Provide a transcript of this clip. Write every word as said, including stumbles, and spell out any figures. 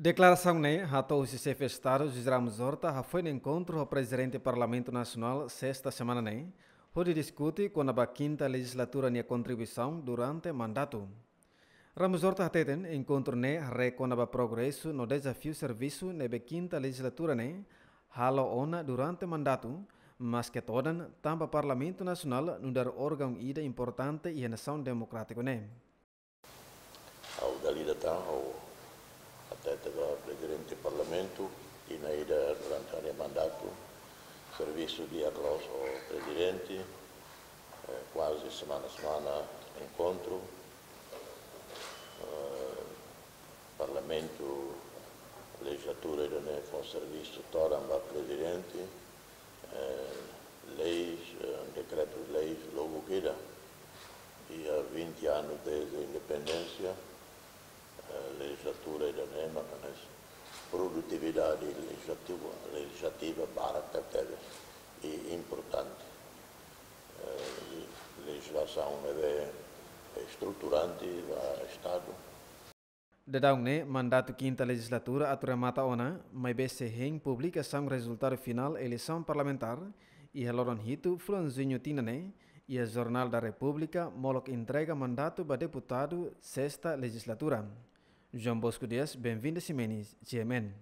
Deklarasaun ne'e hato'o husi Xefe Estadu José Ramos Horta hafoin enkontru ho Prezidente Parlamentu Nasionál sesta semana ne'e, hodi diskute kona-ba kinta lejizlatura nia kontribuisaun durante mandatu. Ramos Horta hateten enkontru ne'e haree kona-ba progresu no dezafiu servisu ne'ebé kinta lejizlatura ne'e halo ona durante mandatu, maske todan tanba Parlamentu Nasionál nu'udar órgaun ida importante iha nasaun demokrátiku ne'e. Ha'u dala ida tan ha'u hatete ba Prezidente Parlamentu, tinan ida durante ha'u-nia mandatu servisu di'ak loos ho Prezidente, eh, kuaze semana-semana enkontru. Eh, Parlamentu, lejizlatura ida-ne'e fó servisu todan ba Prezidente, eh, leis, eh, dekretu-leis, logu ida. Iha vinte anos desde independénsia, eh, lejizlatura ida-ne'e maka ne'e produtividade lejizlativa, lejizlativa barak tebes i importante. Eh, lejizlasaun ne'ebé estruturante ba Estadu. Daudaun ne'e, mandatu kinta lejizlatura atu remata ona, maibé sei hein publikasaun rezultadu finál eleisaun parlamentár iha loron hitu fulan Juñu tinan ne'e, iha Jornál da Repúblika molok entrega mandatu ba deputadu sesta lejizlatura. João Bosco Dias, Benvinda Ximenes, G M N.